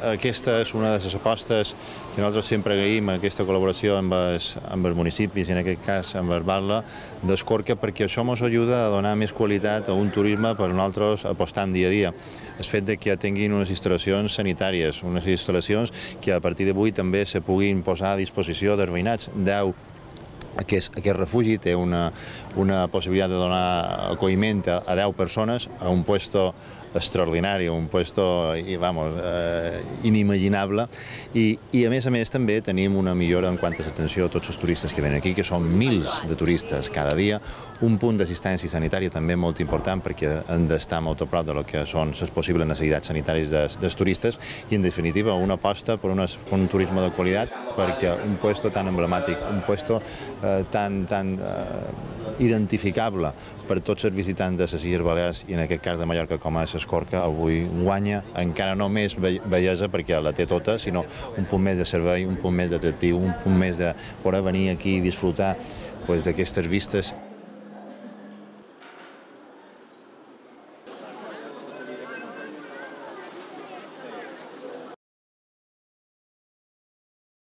Aquesta és una de les apostes que nosaltres sempre agraïm, aquesta col·laboració amb els municipis, i en aquest cas amb el Barla d'Escorca, perquè això ens ajuda a donar més qualitat a un turisme per nosaltres apostant dia a dia. El fet que ja tinguin unes instal·lacions sanitàries, unes instal·lacions que a partir d'avui també se puguin posar a disposició dels veïnats. Aquest refugi té una possibilitat de donar acolliment a 10 persones a un puesto extraordinari, un puesto inimaginable, i a més també tenim una millora en quant a l'atenció a tots els turistes que venen aquí, que són mils de turistes cada dia, un punt d'assistència sanitària també molt important perquè hem d'estar molt a prop de lo que són les possibles necessitats sanitàries dels turistes i, en definitiva, una aposta per un turisme de qualitat, perquè un puesto tan emblemàtic, un puesto tan identificable per tots els visitants de les Illes Balears i en aquest cas de Mallorca com a Escorca, avui guanya encara no més bellesa perquè la té tota, sinó un punt més de servei, un punt més d'atractiu, un punt més de poder venir aquí i disfrutar d'aquestes vistes.